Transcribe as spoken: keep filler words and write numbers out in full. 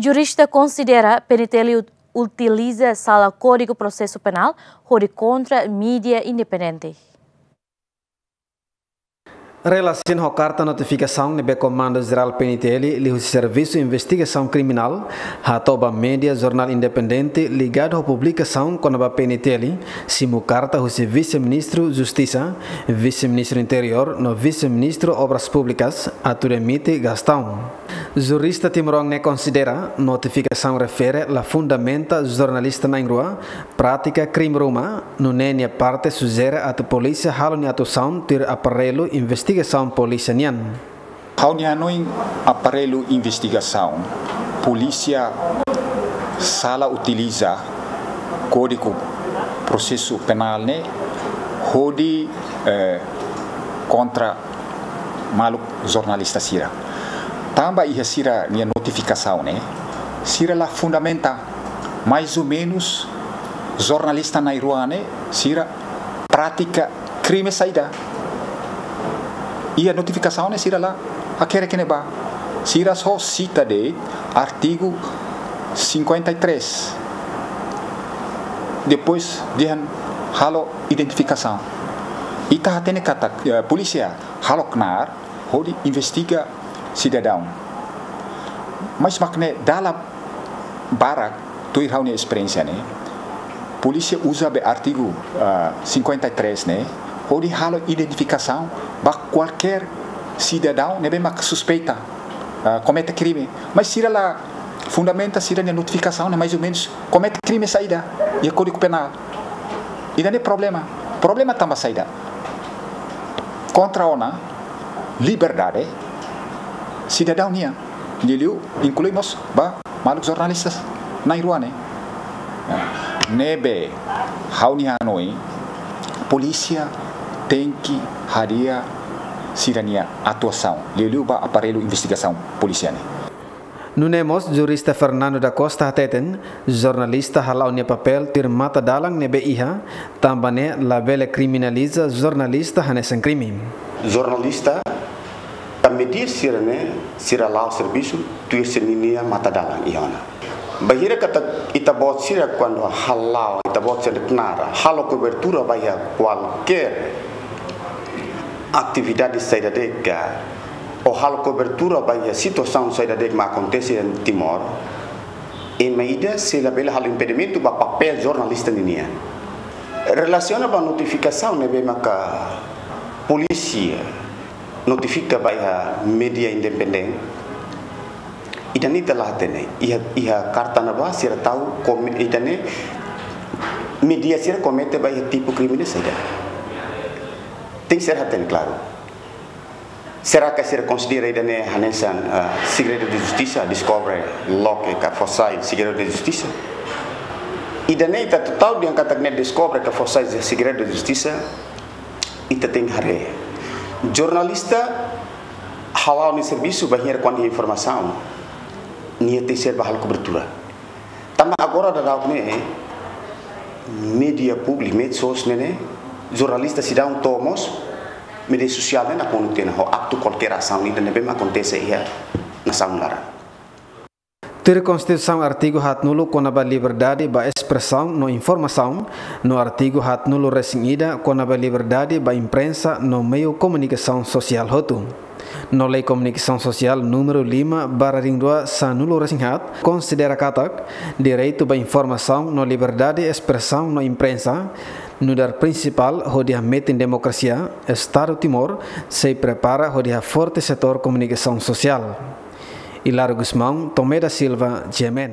Jurista konsidera P N T L ut-, utiliza sala Kódigu Prosesu Penál hodi kontra mídia independente. Relasiona ho karta notifikasaun ne'ebé Komandu Jerál P N T L liuhusi Servisu Investigasaun Kriminál hato'o ba mídia jornál independente ligadu ho publikasaun kona-ba P N T L, simu karta husi Vise-Ministru Justisa, Vise-Ministru Interiór no Vise-Ministru Obras Públikas, atu demite Gastão. Jurista timoroan ne'e konsidera notifikasaun refere la fundamenta jornalista na'in-rua pratika krime ruma, nune'e nia parte sujere atu polísia halo nia atuasaun tuir aparellu investigasaun polísia nian. Ha'u-nia hanoin, aparellu investigasaun polísia sala utiliza Kódigu Prosesu Penál ne'e hodi, eh, kontra maluk jornalista sira. Tanba iha sira-nia notifikasaun ne'e, sira la fundamenta, mais ou menus, jornalista na'in-rua ne'e sira pratika krime saida. Iha notifikasaun ne'e sira la hakerek ne'ebá. Sira só sita de'it artigu cinquenta e três. Depois dehan halo identifikasaun. Ita hatene katak, eh, polísia halo knaar hodi investiga sidadaun. Mas mak ne'e dala barak, tuir ha'u-nia esperiénsia ne'e, polísia uza be artigu, ah, cinquenta e três ne'e hodi halo identifikasaun ba kualkér sidadaun ne'ebé mak suspeita, ah, komete krime. Mas sira la fundamenta sira-nia notifikasaun ne'e mais ou menus komete krime saida iha Kódigu Penál. Ida-ne'e problema. Problema tanba saida? Kontra ona liberdade sidadaun nian. Liuliu inklui mós ba maluk jornalista na'in-rua ne'e. Ne'ebé ha'u-nia hanoin, polísia tenke hadi'a sira-nia atuasaun, liuliu ba aparellu investigasaun polísia ne'e. Nune'e mós jurista Fernando da Costa hateten, jornalista hala'o nia papél tuir matadalan ne'ebé iha, tanba ne'e labele kriminaliza jornalista hanesan krime. Jornalista ka mídia sira-ne'e, sira la'o servisu tuir sira-nia matadalan iha ona. Bainhira katak ita-boot sira kuandu hala'o, ita-boot sira knaar, halo kobertura ba iha kualkér atividade saida de'it ka, ou halo kobertura ba iha situasaun saida de'it mak akontese iha Timor, ema ida sei labele halo impedimentu ba papél jornalista ninian. Relasiona ba notifikasaun ne'ebé maka polísia notifika ba iha mídia independente, ida-ne'e ita la hatene, iha, iha karta ne'ebá sira tau kome-, ida-ne'e mídia sira komete ba iha tipu krime saida. Tenke ser hatene klaru. Será que sira konsidera ida-ne'e hanesan, ah, segredu de justisa, deskobre loke ka fó sai segredu de justisa? Ida-ne'e ita atu tau dehan katak ne'e deskobre ka fó sai segredu de justisa, ita tenke haree. Jornalista hala'o nia servisu bainhira kuandu iha informasaun, nia tenke ser ba halo kobertura. Tanba agora daudaun ne'e, mídia públiku, medsos ne'e, ne'e, jornalista seidauk to'o mós mídia sosiál ne'e nakonu tiha ona ho atu kualkér asaun ida ne'ebé mak akontese iha nasaun laran. Tuir Konstituisaun artigu haatnulu kona-ba liberdade ba espresaun no informasaun, no artigu haatnulu-resin-ida kona-ba liberdade ba imprensa no meiu komunikasaun sosiál hotu. No Lei Komunikasaun Sosiál númeru lima barra rihun rua sanulu-resin-haat konsidera katak direitu ba informasaun no liberdade espresaun no imprensa nu'udar prinsipál hodi hametin demokrasia, Estadu Timor sei prepara hodi haforte setór komunikasaun sosiál. Hilario Gusmão, Tomé da Silva, G M N.